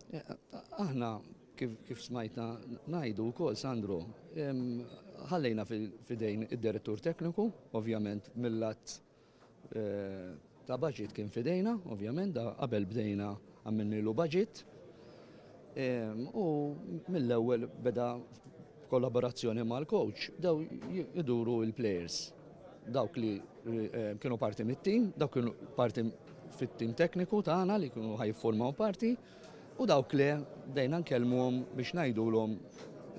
Aħna kif smajtna ngħidu wkoll, Sandro, ħallejna fidejn id-direttur tekniku, ovvjament mill-lat ta' budget kien fidejna, ovvjament, da qabel bdejna għamilnilu budget. U mill-ewwel beda kollaborazzjoni mal-coach, bdew iduru il-players. Dawk li kienu parti mit-team, dawk kienu parti fit-team tekniku tagħna li kienu ħa jiffurmaw parti, u dawk li bdejna nkellmuhom biex ngħidulhom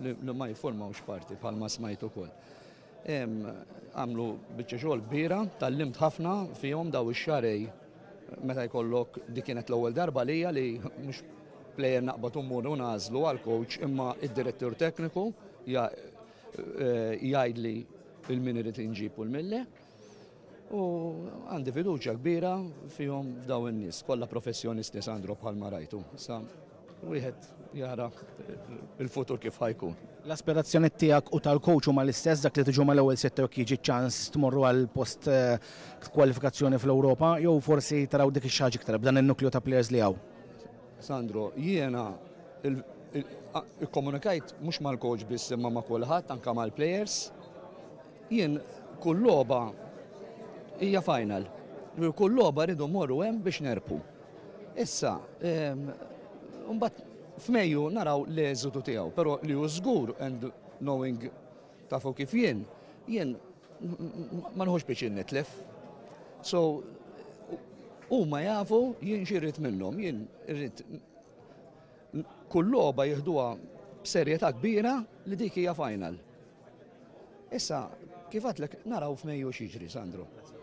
li ma jiffurmawx parti, bħalma smajtu ukoll. Għamlu biċċa xogħol kbira, tgħallimt ħafna fihom daw ix-xahrejn meta jkollok. Dik kienet l-ewwel darba lija li mhux player naqbad u mmur u nagħżlu għal coach, imma id-direttur tekniku jgħidli 'il min irid inġib u 'l min le. U għandi fiduċja kbira fihom, f'daw in-nies, kollha professjonisti, Sandro, bħalma rajtu. Sa wieħed jara il-futur kif ħa jkun. L-aspirazzjoni tiegħek u tal-coach huma l-istess, dak li tiġu mal-ewwel sitta, jekk jiġi ċans tmorru għal post kwalifikazzjoni fl-Ewropa, jew forsi taraw dik ix-xi ħaġa iktar b'dan in-nukleu ta' players li hawn? Sandro, jiena ikkomunikajt mhux mal-coach biss imma ma' kulħadd, anka mal-players. Jien kull logħba hija final. Kull logħba rridu mmorru hemm biex nerbħu. Issa, mbagħad f'Mejju naraw l-eżitu tiegħu, però li hu żgur, and knowing, tafu kif jien ma nħux biex nitlef. So, huma jafu jien x'irrid minnhom, jien irrid kull logħba jieħduha b'serjetà kbira li dik hija final. Issa, kif għedtlek, naraw f'Mejju x'jiġri, Sandro.